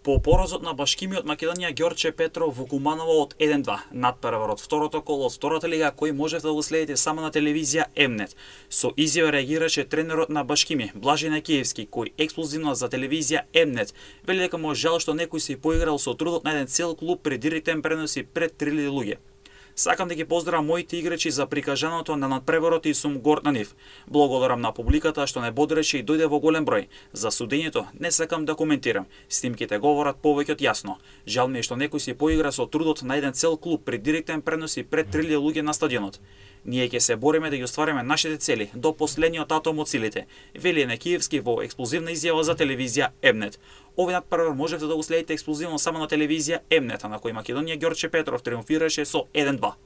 По поразот на Башкимиот Македонија Ѓорче Петров во Куманово од 1-2, надпревар од второто коло од втората лига кој можете да го следите само на телевизија М-нет. Со изјава реагираше тренерот на Башкими Блажи Накиевски кој ексклузивно за телевизија М-нет вели дека му жал што некој се поиграл со трудот на еден цел клуб пред директен пренос и пред 3000 луѓе. Сакам да ги поздравам моите играчи за прикажаното на надпреварот и сум горд на нив. Благодарам на публиката што не бодреше и дојде во голем број. За судењето не сакам да коментирам. Снимките говорат повеќе од јасно. Жал ми е што некој си поигра со трудот на еден цел клуб пред директен пренос и пред 3000 луѓе на стадионот. Ние ќе се бориме да ги оствариме нашите цели до последниот атом од силите, вели Некиевски во експлозивна изјава за телевизија М-нет. Овој надпревар можете да го следите ексклузивно само на телевизија М-нет, на кој Македонија Ѓорче Петров триумфираше со 1-2.